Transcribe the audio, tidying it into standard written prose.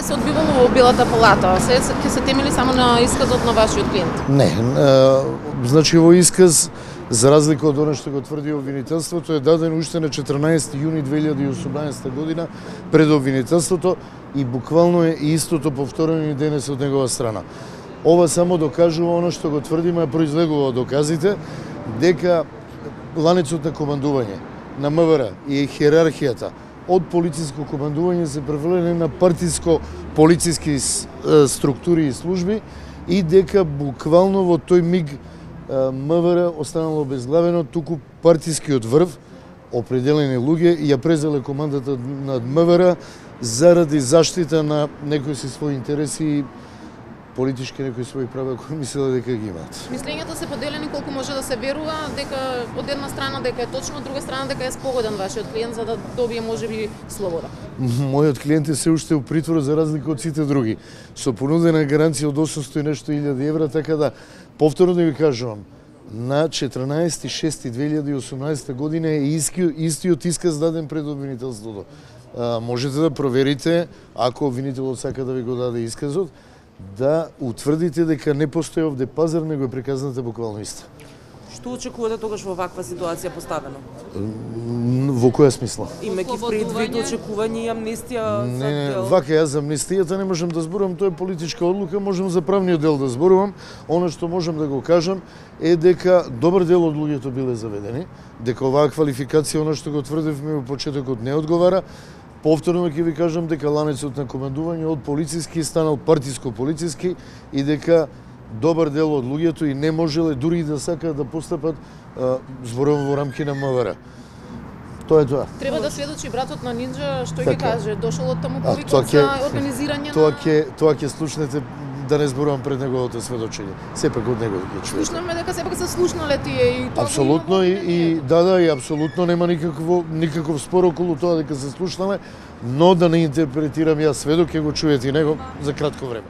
се одбивало во Белата палата? Ќе се темели само на исказот на вашиот клиент? Не, значи во исказ, за разлика од оно што го тврди обвинителството, е даден уште на 14 јуни 2018 година пред обвинителството и буквално е истото повторено и денес од негова страна. Ова само докажува оно што го тврдиме, произлегува од доказите, дека ланецот на командување на МВР и хиерархијата од полициско командување се преврнени на партиско-полициски структури и служби и дека буквално во тој миг МВР останало обезглавено, туку партискиот врв, определени луѓе, ја презеле командата над МВР заради заштита на некои си своји интереси и политички некои своји права кои мислеле дека ги имаат. Мислењата се поделени колку може да се верува, дека од една страна дека е точно, од друга страна дека е спогоден вашиот клиент за да добие можеби слобода. Мојот клиент е се уште у притвор за разлика од сите други, со понудена гаранција од 800 и нешто илјади евра, така да повторно да ви кажувам, на 14.6.2018 година е истиот исказ даден пред обвинителството. Можете да проверите, ако обвинителот сака да ви го даде исказот, да утврдите дека не постои овде пазар, него е приказната буквално иста. Што очекувате тогаш во ваква ситуација поставено? Во која смисла? Имајќи предвид очекување и амнестија за дел? Вака јас за амнестијата не можам да зборувам, тоа е политичка одлука, можам за правниот дел да зборувам. Она што можам да го кажам е дека добар дел од луѓето биле заведени, дека оваа квалификација, она што го тврдевме во почетокот, не одговара. Повторно ќе ви кажам дека ланецот на командување од полициски станал партиско-полициски и дека добар дел од луѓето и не можеле дури и да сакаат да постапат зборувам во рамки на МВР. Тоа е тоа. Треба да сведочи братот на Нинџа, што ќе каже, дошол од таму повикот за организирање на... Тоа ќе слушнете, да не зборувам пред неговото сведочење. Сепак од него ќе чуете. Слушнаме дека сепак се слушнале тие и тоа. Апсолутно и апсолутно нема никаков спор околу тоа дека се слушнале, но да не интерпретирам јас сведок, ќе го чуете и него за кратко време.